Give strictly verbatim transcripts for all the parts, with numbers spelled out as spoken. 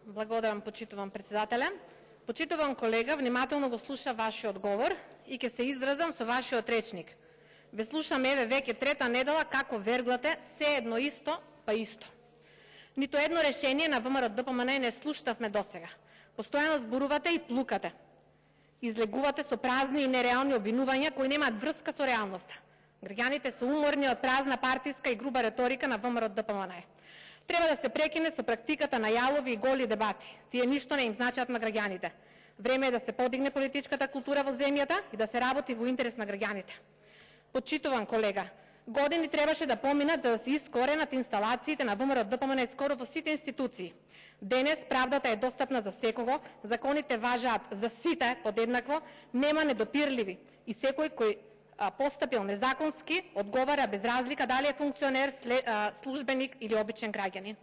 Благодарам, почитувам председателе. Почитувам колега, внимателно го слуша вашиот одговор и ќе се изразам со вашиот речник. Ве слушам еве веќе трета недела како верглате се едно исто, па исто. Нито едно решение на ВМРО-ДПМН не слушнавме досега. Постојано зборувате и плукате. Излегувате со празни и нереални обвинувања кои немаат врска со реалноста. Граѓаните се уморни од празна партиска и груба реторика на ВМРО-ДПМН. Треба да се прекине со практиката на јалови и голи дебати. Тие ништо не им значат на граѓаните. Време е да се подигне политичката култура во земјата и да се работи во интерес на граѓаните. Почитуван колега, години требаше да поминат за да се искоренат инсталациите на ВМРО-ДПМН скоро во сите институции. Денес правдата е достапна за секого, законите важаат за сите подеднакво, нема недопирливи и секој кој постапил незаконски одговара без разлика дали е функционер, службеник или обичен граѓанин.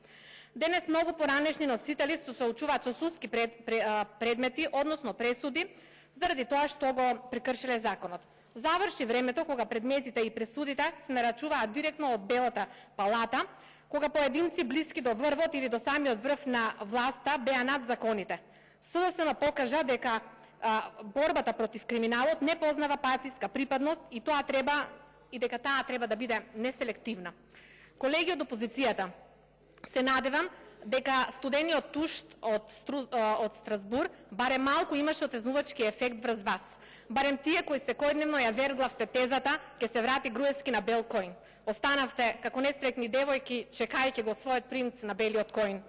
Денес многу поранешни носители се соочуваат со судски пред, пред, предмети, односно пресуди, заради тоа што го прекршиле законот. Заврши времето кога предметите и пресудите се нарачуваат директно од Белата палата, кога поединци блиски до врвот или до самиот врв на власта беа над законите. СДСМ покажа дека а, борбата против криминалот не познава партиска припадност и тоа треба и дека таа треба да биде неселективна. Колеги од опозицијата, се надевам дека студениот тушт од, од Страсбур барем малку имаше отрезнувачки ефект врз вас. Барем тие кои секојдневно ја верглавте тезата ке се врати Груевски на бел коин. Останавте како нестрекни девојки чекајќи го својот принц на белиот коин.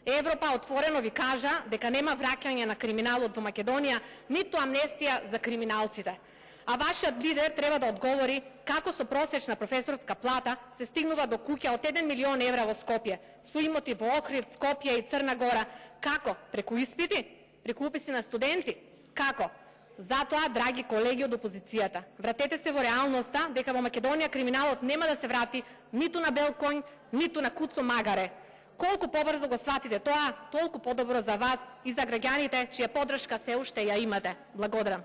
Европа отворено ви кажа дека нема враќање на криминалот во Македонија, ниту амнестија за криминалците. А вашиот лидер треба да одговори како со просечна професорска плата се стигнува до куќа од еден милион евра во Скопје, со имоти во Охрид, Скопје и Црна Гора. Како? Преку испити? Преку уписи на студенти? Како? Затоа, драги колеги од опозицијата, вратете се во реалноста дека во Македонија криминалот нема да се врати ниту на бел коњ, ниту на куцо магаре. Колку побрзо го сватите тоа, толку подобро за вас и за граѓаните чија поддршка се уште ја имате. Благодарам.